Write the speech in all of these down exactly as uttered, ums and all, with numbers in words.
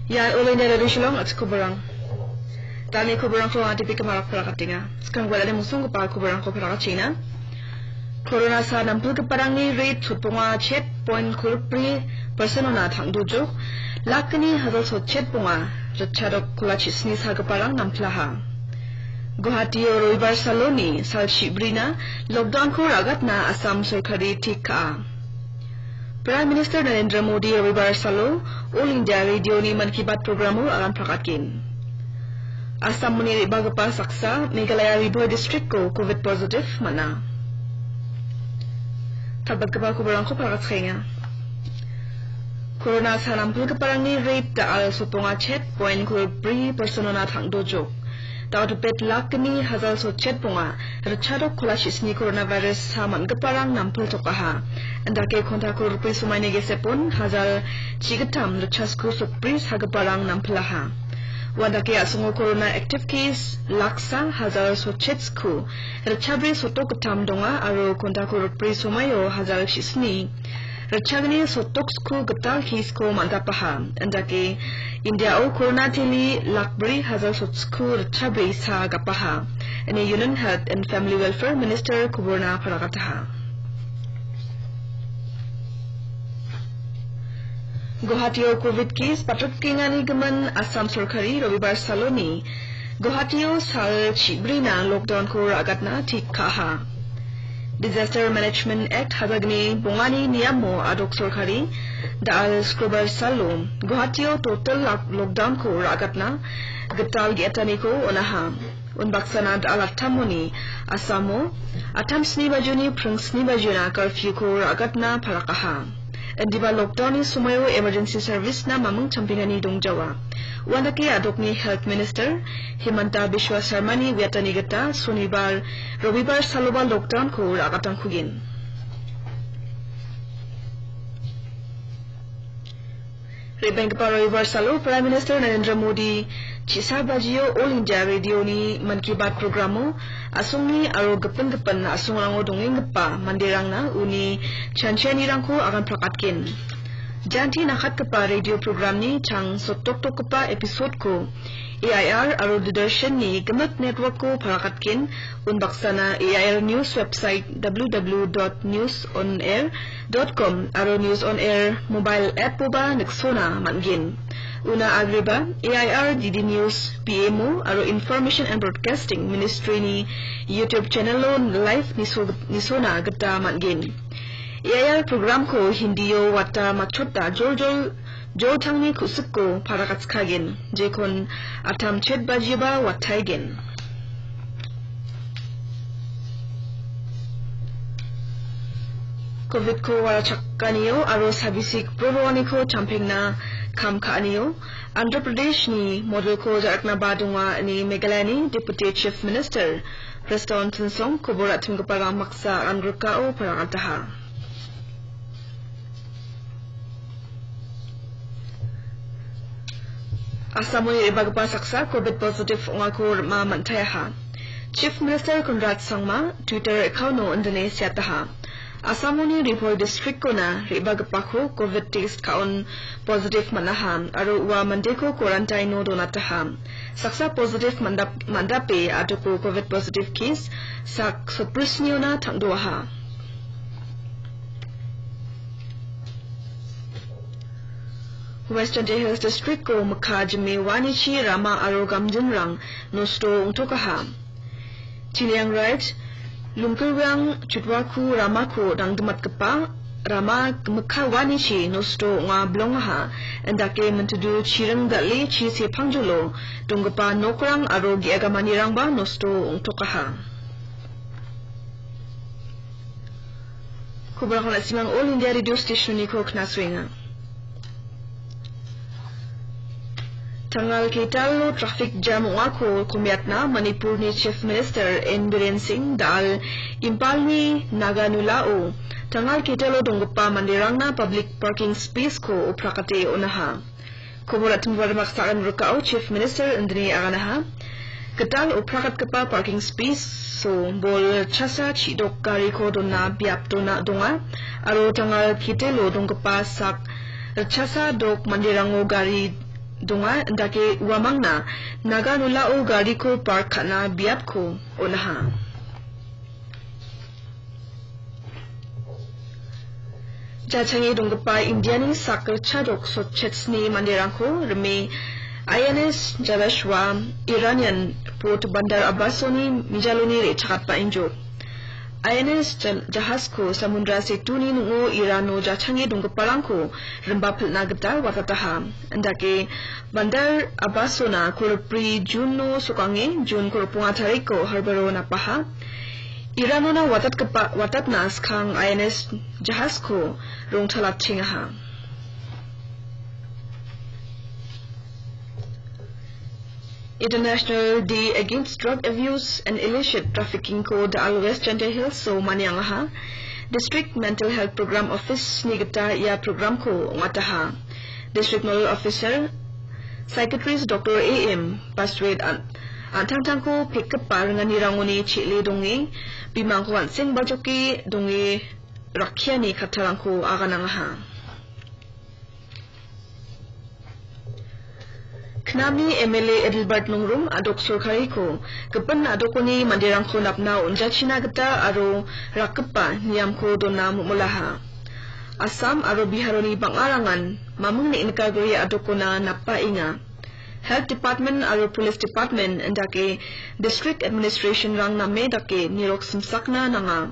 Ia All India Radio Shillong, atikoborang. Dani koborangko adipi kemarak parakatenga. Sekarang gue dani musung kepa koborangko parakatena. Corona sa nampilgiparangni rate sotbonga chet point kolpri percent ona tangdojok. Lakni hazal sotchet bonga, ritchadok kola chisni sagiparang nampilaha. Guwahati Robibar saloni sal chibrina lockdown-ko ragatna Assam sorkari tik ka·a. Prime Minister Narendra Modi Robibar salo All India Radio-ni Mann Ki Baat programo agan prakatgen. Assamoni re·bagipa saksa Meghalaya Ri Bhoi district-ko covid positive man·a. Kalbatgipa koborangko parakatskaenga. Corona sa nampilgiparangni rate da·al sotbonga chet point kolbri percent ona tangdojok. Daotipet lakni hazal sotchet bonga, ritchadok kola chisni coronavirus sa man·giparang nampiltokaha. Indake konta kolbri somaini gesepon hazal chigittam ritchasku sotbri sagiparang nampilaha. Uandake a·songo corona active case laksa hazal sotchetsku ritchabri sotdok gittam donga aro konta kolbri somaio hazal chisni ritchagni sotdoksku gital case-ko man·dapaha. Indake India-o corona teli lakbri hazal sotsku ritchabri sa gapaha, ine Union Health and Family Welfare Minister koborna parakataha. Guwahatio covid case patrotgengani gimin Assam sorkari Robibar saloni Guwahatio sal chibrina lockdown-ko ra·gatna tik ka·aha. Disaster Management Act hazagni bongani niamo adok sorkari da·al Skrobar salo Guwahatio total lak-, lockdown-ko ra·gatna gital ge·etaniko on·aha. Unbaksana da·al attamoni Assamo attam sni bajoni pring sni bajona curfew-ko ra·gatna parakaha. Indiba lockdown-ni somoio emergency service-na maming champengani dongjawa. Uandake adokni Health Minister Himanta Biswa Sarmani uiatani gita Sonibar, Robibar saloba lockdown-ko ra·gatangkugen. Re·benggipa Robibar salo Prime Minister Narendra Modi chisa bajio All India Radio-ni Mann Ki Baat programo a·songni aro gipin gipin a·songrango dongenggipa manderangna uni chanchianirangko agan prakatgen. Janti nakatgipa radio programni chang sotdoktokgipa episode-ko A I R aro Doordarshan-ni gimik network-ko parakatgen. Unbaksana A I R News website W W W dot news on air dot com aro News on Air mobile app-oba niksona man·gen. Una agreba A I R D D News, P M O aro Information and Broadcasting Ministry-ni YouTube channel-o live niso-, nisona gita man·gen. A I R program-ko Hindi-o wata matchota joljol joltangni ku·sikko parakatskagen, jekon attam chet bajiba wataigen. Covid-ko warachakanio aro sabisik pro roaniko champengna kam ka·anio Andhra Pradesh-ni model-ko ja·raknaba donga ine Meghalaya-ni Deputy Chief Minister Prestone Tynsong kobor ra·chimgiparang maksa angrikao parakataha. Assamoni re·bagipa saksa covid positive ong·ako rima man·taiaha. Chief Minister Conrad Sangma Twitter account-o indine seataha. Assamoni Ri Bhoi district-ona re·bagipako covid test ka·on positive man·aha aro ua mandeko quarantine-o donataha. Saksa positive mandap-, mandape adoko covid positive case sak sotbrisniona tangdoaha. West Jaintia Hills District-o mikka jime uanichi rama aro gamjinrang nosto ong·tokaha. Chiliang Raij, Lungkilwang Chutwaku ramako dangdimatgipa rama mikka uanichi nosto ong·a bilongaha. Indake mintudu chiring dal·e chi sepangjolo donggipa nokrang aro ge·agamanirangba nosto ong·tokaha. Koborangko na·simang All India Radio Station-niko knasoenga. Tangal ketalo traffic jam ong·ako komiatna Manipurni Chief Minister N Biren Singh dal Impalni Naganulao tangal ketalo donggipa manderangna public parking space-ko oprakate on·aha. Kobor ra·chimgipa rimaksaan rikao Chief Minister indine aganaha. Gital oprakatgipa parking space-o bol chasa chidok gariko dona biap dona donga. Aro tangal ketelo donggipa sak chasa dok manderango gari donga, indake uamangna Naga nolao gariko park ka·na biapko on·aha. Jachange donggipa Indiani sak ritchadok sotchetsni manderangko rime I N S Jalashwa Iranian port Bandar Abbasoni mijaloni re·chakatba injo. I N S jal-, jahasko Samundra Setuni ning·o Irano jachange donggiparangko rimba pilna gita watataha. Indake Bandar Abbasona kolbri Juno sokange Jun kolbonga tariko harboro napaha. Iranona watatgipa, watatna skang I N S jahasko rongtalatengaha. International Day Against Drug Abuse and Illicit Trafficking ko da·al West Jaintia Hills-o maniangaha. District Mental Health Program Office-ni gita ia programko ong·ataha. District Nodal Officer, Psychiatrist Doctor A M Paswet an-, an·tangtangko pekgipa ringanirangoni che·e donge, bimangko an·seng bajoke donge rakkiani kattarangko aganangaha. Knami M L A Adelbert Nongrum a·dok sorkariko gipin a·dokoni manderangko napna on·jachina gita aro rakgipa niamko dona momolaha. Assam aro Biharoni bang·arangan maming neng·nikagri a·dokona napaenga. Health Department aro Police Department indake District Administration-rang name dake nirok simsakna nanga.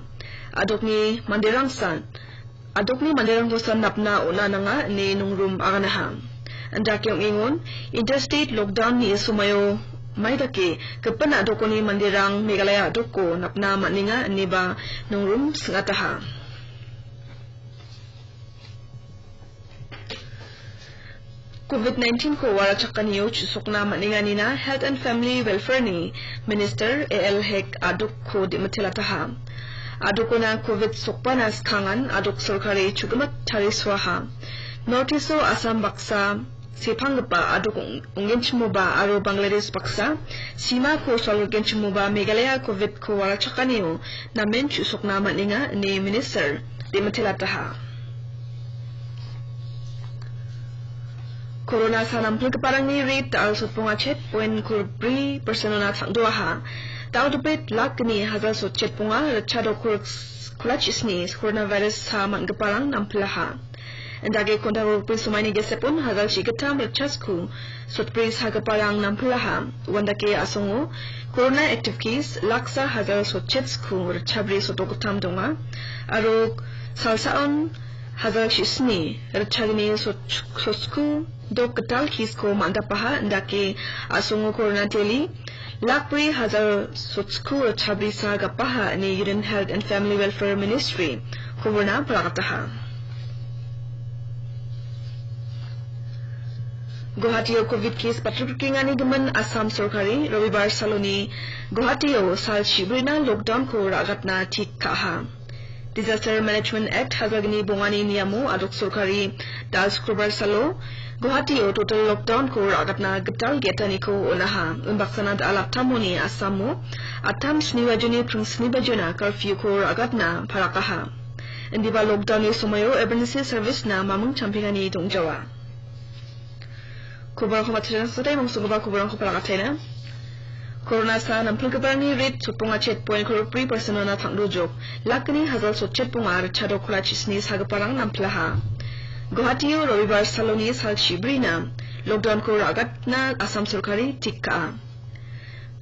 A·dokni manderangsa A·dokni manderangkosa napna on·a nanga ine Nongrum aganaha. Indake ong·engon, interstate lockdown-ni somoio maidake gipin a·dokoni manderang Meghalaya a·doko napna man·enga ineba Nongrum sing·ataha. Covid nineteen ko warachakanio chu·sokna man·enganina Health and Family Welfare-ni Minister A L Hek a·dokko de·mitelataha. A·dokona Covid sokbana skangan a·dok sorkari chu·gimat tarisoaha. North East-o Assam baksa sepanggipa a·dok ong-, ong·genchimoba aro Bangladesh baksa simako solgenchimoba Meghalaya Covid ko warachakanio namen chu·sokna man·enga ine Minister de·mitelataha. Corona sa nampilgiparangni rate da·al sotbonga chet point kolbri percent-ona chang·doaha. Dal·dopet lak gni hazal sotchet bonga ritchadok kolak-, kolachis-ni coronavirus sa man·giparang nampilaha. Indake konta kolbri somaini gesepon hazal chigittam ritchasku sotbri sagiparang nampilaha. Uandake asongo corona active case laksa hazal sotchetsku ritchabri sotdokgittam donga. Aro salsaon hazal chisni ritchagni sot-, sotsku dok gital case-ko man·dapaha indake asongo corona teli lakbri hazal sotsku ritchabrisa gapaha ine Union Health and Family Welfare Ministry koborna palakataha. Guwahatio Covid case patrikengani gimin Assam sorkari Robibar saloni Guwahatio sal chibrina lockdown-ko ra·gatna tik ka·aha. Disaster Management Act hazagni bongani niamo a·dok sorkari da·al Sukrobar salo Guwahatio total lockdown-ko ra·gatna gital ge·taniko on·aha. Unbaksana da·al attamoni Assamo attam sni bajoni pring sni bajona curfew-ko ra·gatna parakaha. Indiba lockdown-ni somoio emergency service-na maming champengani dongjawa. Koborangko matchotna sasatai mangsonggipa koborangko palakataina. Corona sa nampilgiparangni rate sotbonga chet point kolbri percent-ona chang·dojok. Lakni hazal sotchet bonga ritchadok kolachis-ni sagiparang nampilaha. Guwahatio Robibar saloni sal chibrina lockdown-ko ra·gatna Assam sorkari tik ka·a.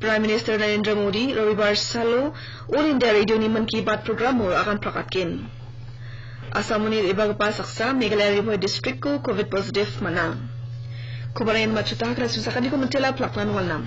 Prime Minister Narendra Modi Robibar salo All India Radio-ni Mann Ki Baat program-o agan prakatgen. Assamoni re·bagipa saksa Meghalaya Ri Bhoi district-ko Covid positive man·a. Kobarangen matchota hakra susakaniko mintela plakna nongalna.